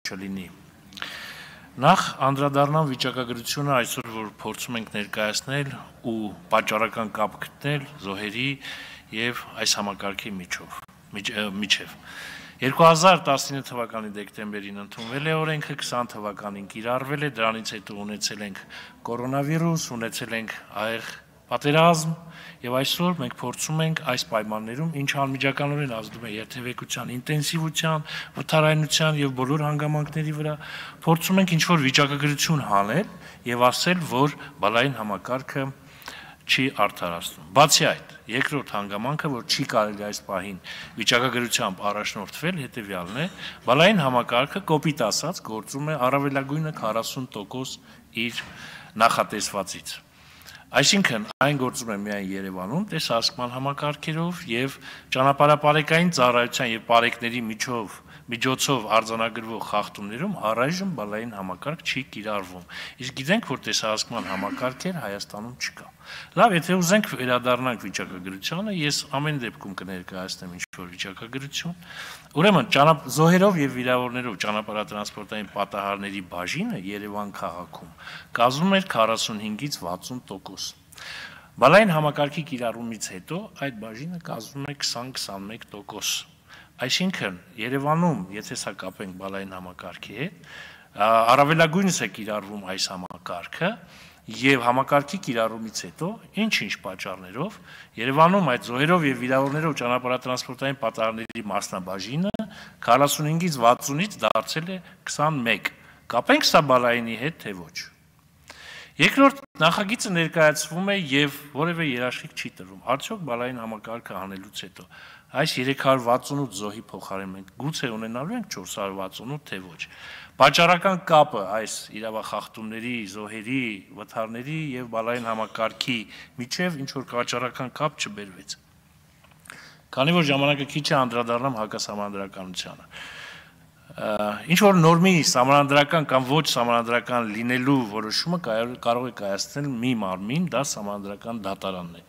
չլինի։ Նախ անդրադառնամ վիճակագրությունը այսօր, որ փորձում ենք ներկայացնել ու պատճառական կապ գտնել զոհերի եւ այս համակարգի միջև։ 2019 թվականի դեկտեմբերին ընդունվել է օրենքը, 20 թվականին կիրառվել է, դրանից հետո ունեցել ենք կորոնավիրուս, ունեցել ենք ահեղ պատերազմ եւ այսօր մենք փորձում ենք այս պայմաններում, ինչ անմիջականորեն ազդում է երթևեկության ինտենսիվության, վթարայնության եւ բոլոր հանգամանքների վրա, փորձում ենք ինչ-որ վիճակագրություն հանել եւ ասել, որ բալային համակարգը չի արդարացնում։ Բացի այդ, երկրորդ հանգամանքը, որ չի կարելի այս պահին վիճակագրությամբ առաջնորդվել, հետեւյալն է, բալային համակարգը կոպիտ ասած գործում է առավելագույնը 40% իր նախատեսվածից։ Այսինքն, այն գործում է միայն Երևանում տեսահասկման համակարգերով եւ ճանապարհապարեկային ծառայության եւ պարեկների միջոցով արձանագրվող խախտումներում առայժմ բալային համակարգ չի կիրառվում։ Իսկ գիտենք, որ տեսահասկման համակարգեր Հայաստանում չկա։ Լավ, եթե ուզենք վերադառնանք վիճակագրությանը, ես ամեն դեպքում կներկայացնեմ ինչ-որ վիճակագրություն։ Ուրեմն, զոհերով եւ վիրավորներով ճանապարհատրանսպորտային պատահարների բաժինը Երևան քաղաքում կազմում էր 45-ից 60%։ Բալային համակարգի կիրառումից հետո այդ բաժինը կազմում է 20-21%։ Այսինքն, Երևանում, եթե սա կապենք բալային համակարգի հետ, առավելագույնս է կիրառվում այս համակարգը եւ համակարգի կիրառումից հետո ինչ-ինչ պատճառներով Երևանում այդ զոհերով եւ վիրավորներով ճանապարհատրանսպորտային պատահարների մասնաբաժինը 45-ից 60-ից դարձել է 21։ Կապենք սա բալայինի հետ, թե ոչ։ Երկրորդ նախագիծը ներկայացվում է եւ որևէ երաշխիք չի տրվում։ Արդյոք բալային համակարգը հանելուց հետո այս 368 զոհի փոխարեն մենք գուցե ունենալու ենք 468, թե ոչ։ Պատճառական կապը այս իրավախախտումների, զոհերի, վթարների եւ բալային համակարգի միջև ինչ որ պատճառական կապ չբերվեց։ Քանի որ ժամանակը քիչ է, անդրադառնամ հակասահմանադրականությանը։ Ինչ որ նորմի սահմանադրական կամ ոչ սահմանադրական լինելու որոշումը կարող է կայացնել մի մարմին, դա սահմանադրական դատարանն է։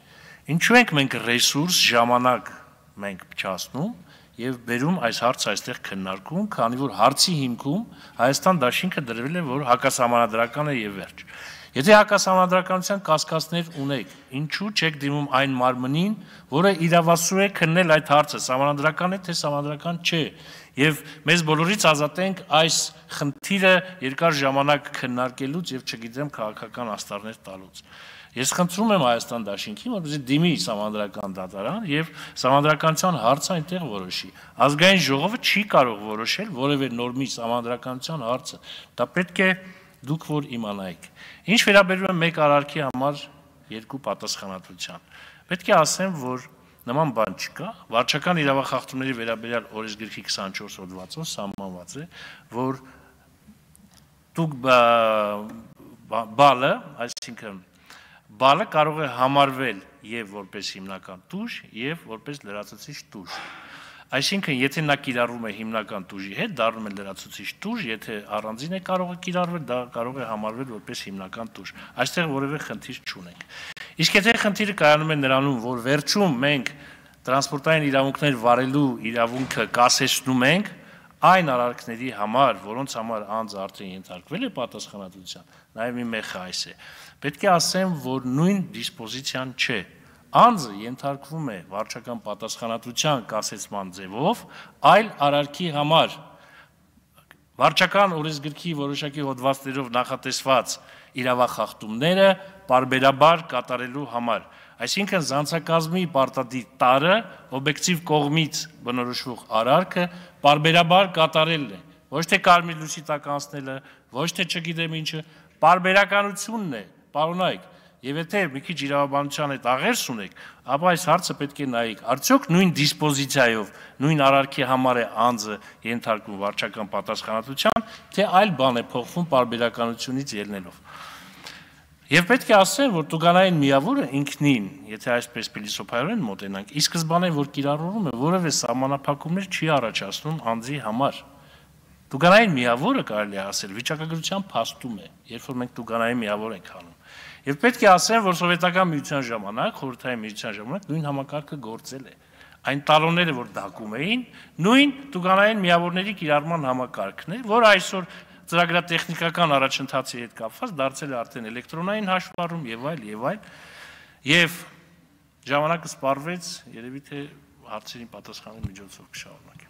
Ինչու ենք մենք ռեսուրս, ժամանակ մենք փչացնում եւ բերում այս հարցը այստեղ քննարկում, քանի որ հարցի հիմքում Հայաստան դաշինքը դրվել է, որ հակասահմանադրական է եւ վերջ։ Եթե հակասահմանադրականության կասկածներ ունեք, ինչու չեք դիմում այն մարմնին, որը իրավասու է քննել այդ հարցը, սահմանադրական է թե սահմանադրական չէ, եւ մեզ բոլորից ազատենք այս խնդիրը երկար ժամանակ քննարկելուց եւ չգիտեմ քաղաքական աստառներ տալուց։ Ես խնդրում եմ Հայաստան դաշինքին, որպեսզի դիմի սահմանադրական դատարան եւ սահմանադրականության հարցը այնտեղ որոշի։ Ազգային ժողովը չի կարող որոշել որևէ նորմի սահմանադրականության հարցը։ Դա պետք է դուք որ իմանայիք։ Ինչ վերաբերում է մեկ արարքի համար երկու պատասխանատվության։ Պետք է ասեմ, որ նման բան չկա։ Վարչական իրավախախտումների վերաբերյալ օրենսգրքի 24 հոդվածով սահմանված է, որ դուք բալը, այսինքն բալը կարող է համարվել եւ որպես հիմնական տուժ եւ որպես լրացուցիչ տուժ։ Այսինքն, եթե նա կիրառվում է հիմնական տուժի հետ, դառնում է լրացուցիչ տուժ, եթե առանձին է կարող է կիրառվել, դա կարող է համարվել որպես հիմնական տուժ։ Այստեղ որևէ խնդիր չունենք։ Իսկ եթե խնդիրը կայանում է նրանում, որ վերջում մենք տրանսպորտային իրավունքներ վարելու իրավունքը կասեցնում ենք այն արարքների համար, որոնց համար անձը արդեն ենթարկվել է պատասխանատվության, նաեւ մի մեխը այս է։ Պետք է ասեմ, որ նույն դիսպոզիցիան չէ։ Անձը ենթարկվում է վարչական պատասխանատվության կասեցման ձևով այլ արարքի համար։ Վարչական օրենսգրքի որոշակի հոդվածներով նախատեսված իրավախախտումները պարբերաբար կատարելու համար։ Այսինքն զանցակազմի պարտադիր տարը օբյեկտիվ կողմից բնորոշվող արարքը պարբերաբար կատարելն է։ Ոչ թե կարմիր լույսի տակ անցնելը, ոչ թե չգիտեմ ինչը, պարբերականությունն է, պարոնայք։ Եվ եթե մի քիչ իրավաբանության հետ աղերս ունեք, ապա այս հարցը պետք է նայեք, արդյոք նույն դիսպոզիցիայով, նույն արարքի համար է անձը ենթարկվում վարչական պատասխանատվության, թե այլ բան է փոխվում պարբերականությունից ելնելով։ Եվ պետք է ասեմ, որ տուգանային միավորը ինքնին, եթե այսպես փիլիսոփայորեն մոտենանք, ի սկզբանե որ կիրառվում է, որևէ սահմանափակումներ չի առաջացնում անձի համար։ Տուգանային միավորը կարելի է ասել վիճակագրության փաստում է, երբ որ մենք տուգանային միավոր ենք անում։ Եվ պետք է ասեմ, որ սովետական միության ժամանակ, խորհրդային միության ժամանակ նույն համակարգը գործել է։ այն տալոնները, որ դակում էին, նույն տուգանային միավորների կիրառման համակարգն է, որ այսօր ծրագրատեխնիկական առաջընթացի հետ կապված դարձել է արդեն էլեկտրոնային հաշվառում եւ այլ, եւ ժամանակը սպառվեց, երևի թե հարցերին պատասխանելու միջոցով կշարունակեմ։